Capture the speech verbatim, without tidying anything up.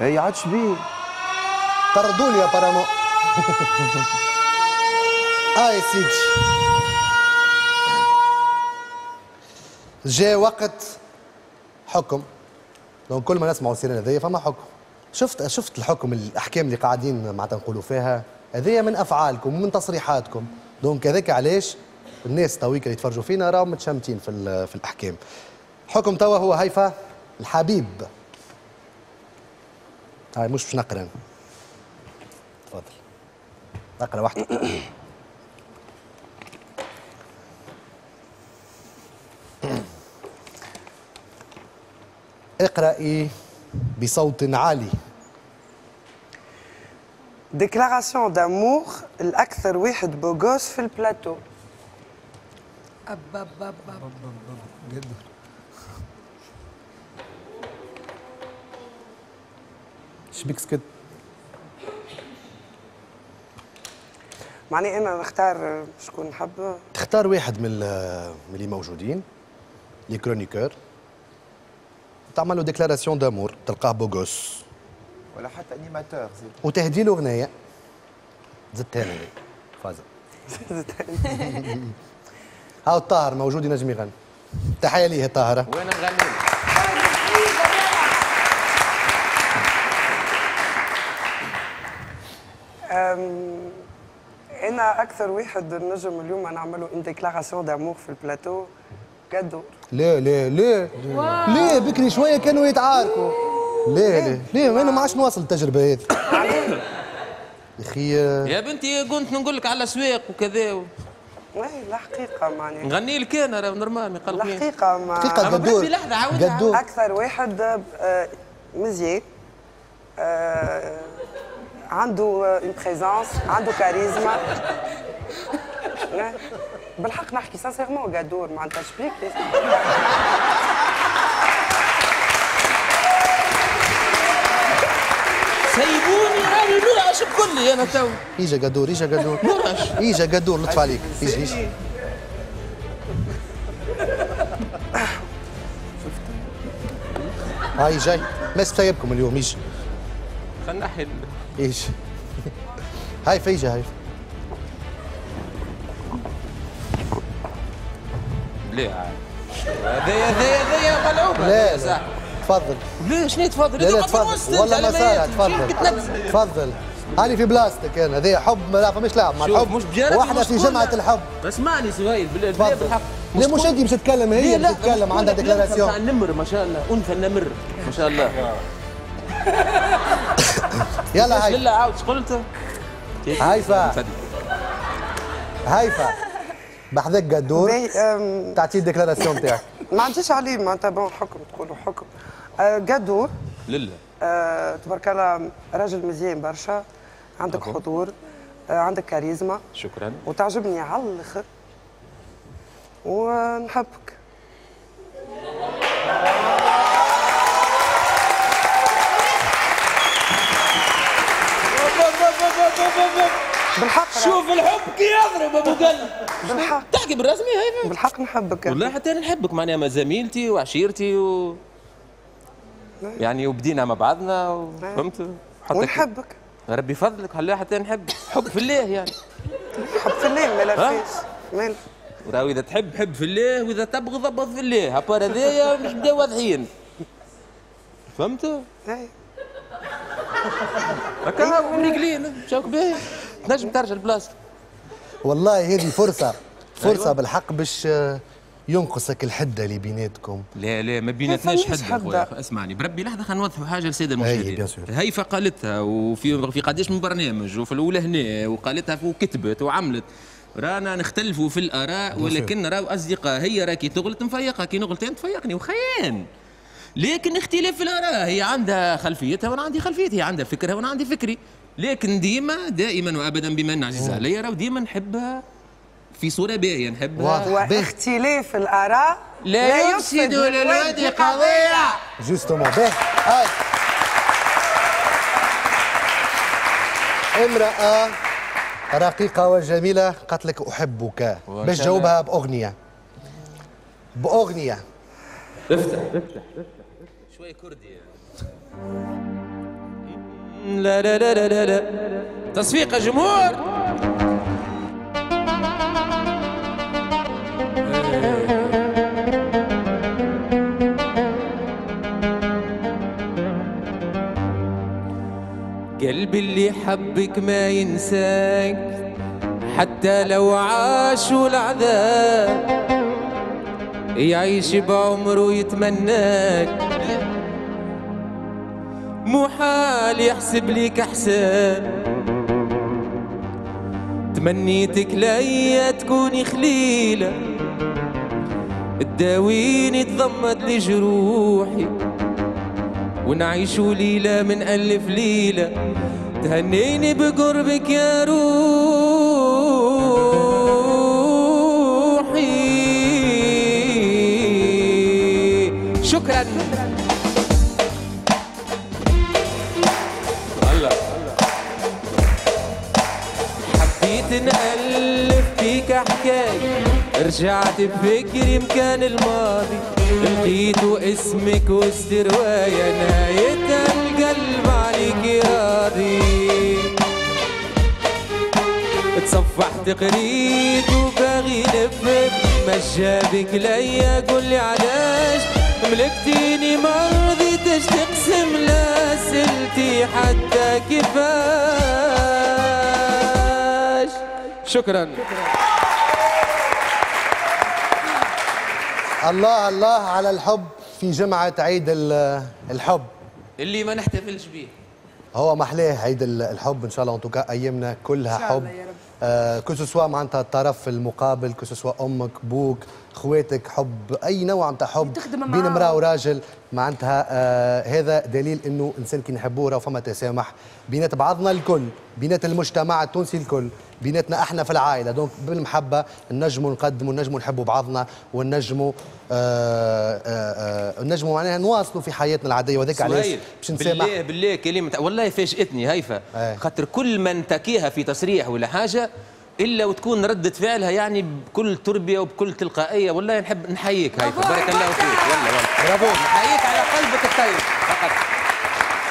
هي عادش بيه طردوني apparemment. اه يا سيدي جاء وقت حكم. donc كل ما نسمعوا السيرين هذيا فما حكم. شفت شفت الحكم، الاحكام اللي قاعدين معناتها نقولوا فيها هذيا من افعالكم ومن تصريحاتكم. donc هذاك علاش الناس تويك اللي يتفرجوا فينا راهم متشمتين في في الاحكام. حكم توا هو هيفا الحبيب. هاي مش باش نقرا، تفضل نقرا واحدة. اقرأي بصوت عالي. déclaration d'amour الأكثر واحد beau gosse في البلاتو. أب أب أب أب جدا. شبيك سكت؟ معني أنا نختار شكون نحب. تختار واحد من من اللي موجودين les chroniqueurs، تعمل له déclaration d'amour، تلقاه beau gosse ولا حتى animateur زيد، وتهدي له اغنية. زدتها انا فازة. هاو الطاهر موجود ينجم يغني. تحية ليه الطاهرة. وين نغني؟ انا اكثر واحد نجم اليوم نعمله une déclaration d'amour في البلاتو قدور. ليه ليه ليه ليه بكري شوية كانوا يتعاركوا. ليه ليه ليه انا ما عادش نواصل التجربة هذه يا اخي. يا بنتي كنت نقول لك على الاسواق وكذا و... اي الحقيقة معناها نغني لك انا راه normal ما يقلقنيش. الحقيقة ما الحقيقة قدور قدور اكثر واحد مزيان، عنده une présence، عنده كاريزما. بالحق نحكي sincèrement قدور معناتها شبيك. سيبوني راني نرعش بكلي انا تو. اجا قدور اجا قدور نرعش. اجا قدور لطف عليك. اجا اجا هاي جاي ما سايبكم اليوم. اجا خلينا نحي. اجا هاي فيجا هاي. ليه هذايا هذايا هذايا ملعوبه. لا لا تفضل. ليه شنو تفضل؟ لا لا تفضل والله ما صار. تفضل تفضل هاني في بلاصتك انا. هذايا حب ما فماش لعب مع الحب. مش بجانب واحنا في جمعه الحب. اسمعني سهيل بالله بالحق. لا مش انت باش تتكلم، هي باش تتكلم عندها déclaration. تاع النمر ما شاء الله، انثى النمر ما شاء الله. يلا هاي لا عاود قلت هيفا هيفا بحذاك قدور تعطيه ال déclaration تاعك. ما عنديش عليه معناتها bon حكم تقولوا حكم. قدور لله أه تبارك الله راجل مزيان برشا، عندك حضور، أه عندك كاريزما. شكرا. وتعجبني على الاخر ونحبك. بالحق شوف الحب كي يضرب ابو قلب. بالحق تحكي بالرسمي هيفا؟ بالحق نحبك والله حتى انا نحبك معناها زميلتي وعشيرتي و يعني وبدينا مع بعضنا فهمت؟ ونحبك ربي يفضلك. هلا حتى نحب حب في الله يعني. حب في الله ما فيش مال. راهو اذا تحب حب في الله واذا تبغض ابغض في الله، à part هذايا مش نبداو واضحين. فهمت؟ اي هكا مريقلين مشاوك باهي تنجم ترجع لبلاصتك. والله هذه فرصة فرصة أيوة. بالحق باش ينقصك الحدة اللي بيناتكم. لا لا ما بيناتناش حده خويا. اسمعني بربي لحظة خلينا نوضحوا حاجة للسادة المشاهدين. هيفا قالتها وفي في قداش من برنامج وفي الاولى هنا وقالتها وكتبت وعملت. رانا نختلفوا في الاراء ولكن راهو اصدقاء. هي راكي تغلط نفيقها، كي نغلط انت تفيقني وخيان. لكن اختلاف في الاراء، هي عندها خلفيتها وانا عندي خلفيتي، هي عندها فكرها وانا عندي فكري. لكن ديما دائما وابدا بما ان عزيزه عليا راهو ديما نحبها في صوره باهيه نحبها. واختلاف الاراء لا, لا يفسد للود قضية. justement باهي. امراة رقيقه وجميلة قالت لك احبك، باش تجاوبها باغنية. باغنية. افتح افتح شوية كردي يعني. لا لا لا لا لا. تصفيق الجمهور. قلبي اللي حبك ما ينساك حتى لو عاشوا العذاب، يعيش بعمره يتمناك، محال يحسب ليك حساب. تمنيتك ليا تكوني خليلة تداويني تضمد لي جروحي، ونعيشوا ليلة من ألف ليلة تهنيني بقربك يا روحي. شكرا. الله. حبيت نألف فيك حكاية، رجعت بفكري مكان الماضي، لقيتو اسمك وسط رواية نهايتها القلب عليك راضي. تصفحت قريت وباغي نفهم ما جابك ليا، قولي علاش ملكتيني ما رضيتش تقسم لا سلتي حتى كيفاش. شكرا. الله الله على الحب في جمعة عيد الحب اللي ما نحتفلش به. هو محلاه عيد الحب ان شاء الله، en tout cas ايامنا كلها حب. آه que ce soit معناتها الطرف المقابل، que ce soit امك بوك خواتك، حب اي نوع نتاع حب بين امراة وراجل معناتها. آه هذا دليل انه انسان كي نحبوه راه فما تسامح بينات بعضنا الكل، بينات المجتمع التونسي الكل، بيناتنا احنا في العائلة. donc بالمحبة نجموا نقدموا، نجموا نحبوا بعضنا، ونجموا آه آه نجموا معناها نواصلوا في حياتنا العادية. وذاك علاش باش نسامح. بالله بالله كلمة والله فاجئتني هيفا، خاطر كل من تكيها في تصريح ولا حاجة الا وتكون ردة فعلها يعني بكل تربيه وبكل تلقائية. والله نحب نحييك هيفا، بارك الله فيك. والله والله برافو، نحييك على قلبك الطيب فقط.